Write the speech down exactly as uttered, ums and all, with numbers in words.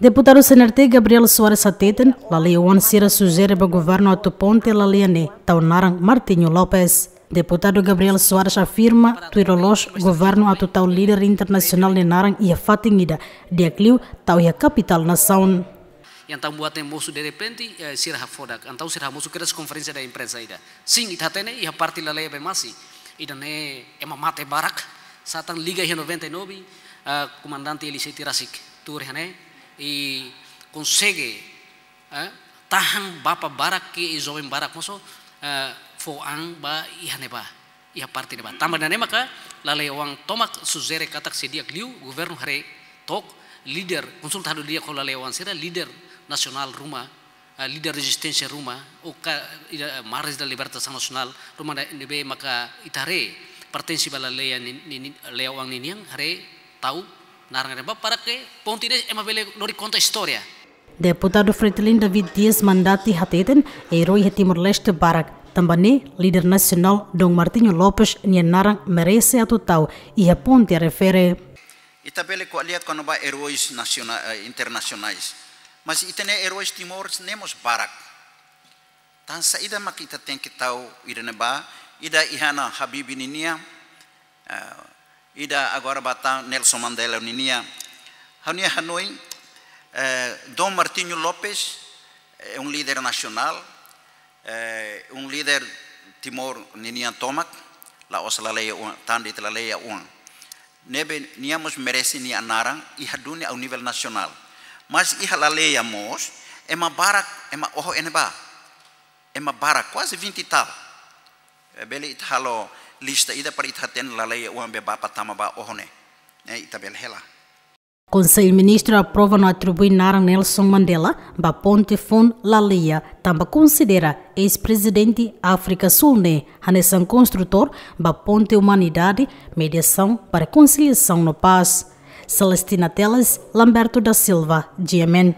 Deputadu C N R T Gabriel Soares hateten, laleia oan sira sujere ba governu atu ponte laleia ne'e tau naran Martinho Lopes. Deputadu Gabriel Soares afirma, tuir loloos governu atu tau líder internasionál nia naran iha fatin ida, di'ak liu tau iha kapitál nasaun. Entaun buat ne'e mosu derrepente, eh, sira hafodak. Entaun sira hamosu kedas konferénsia imprensa ida. Sin, ita hatene iha parte laleia Bemasi. Ida-ne'e ema mate barak, sá tan liga iha noventa e nove, ah, komandante Eliseu Tirasik tuur iha ne'e, i konsege, eh, tahan bapa barak ke i joven barak mosu, eh, fó an ba iha ne'ebá, iha parte ne'ebá. Tanba ida-ne'e maka laleia oan tomak sujere katak sei di'ak liu governu haree took líder, konsulta halo di'ak ho laleia oan sira, líder nasionál ruma, ah, líder rezisténsia ruma, ou ka, ida, Mares da Libertação Nacional ruma, ne'ebé maka ita haree pertense ba laleia ni, ni, ni, laleia oan ninian, haree tau naran ne'ebá para ke ponte ne'e ema bele lori konta istória. Deputadu Fretilin David Dias Mandati hateten, eroi iha Timor-Leste barak, tanba ne'e líder nasionál Dom Martinho Lopes nia naran merese atu tau iha ponte refere. Ita bele ko'alia kona-ba erois nasiona-, eh, internasionais. Mas ita-nia erois Timor ne'e mós barak. Tan saida mak ita tenke tau ida-ne'ebá, ida iha ona Habibie ninian, eh, ida agora ba tan Nelson Mandela ninian. Ha'u-nia hanoin, eh, Dom Martinho Lopes é um líder nacional, eh, um líder Timor ninian tomak, la'ós laleia oan, tan de'it laleia oan. Ne'ebé nia mós merese nia naran iha dunia au nivel nasionál. Mas iha laleia mós, ema barak, ema oho iha ne'ebá. Ema barak, kuaze vinte e tal. Eh, bele ita halo lista ida para ita hatene laleia oan be bapa tama ba oho ne'e. Eh, ita bele hela. Konsellu Ministru aprova no atribui naran Nelson Mandela ba ponte foun laleia, tanba konsidera eis-prezidente Áfrika Súl ne'e hanesan konstrutór ba ponte umanidade, mediasaun ba rekonsiliasaun no pás. Celestina Teles, Lamberto da Silva, G M N.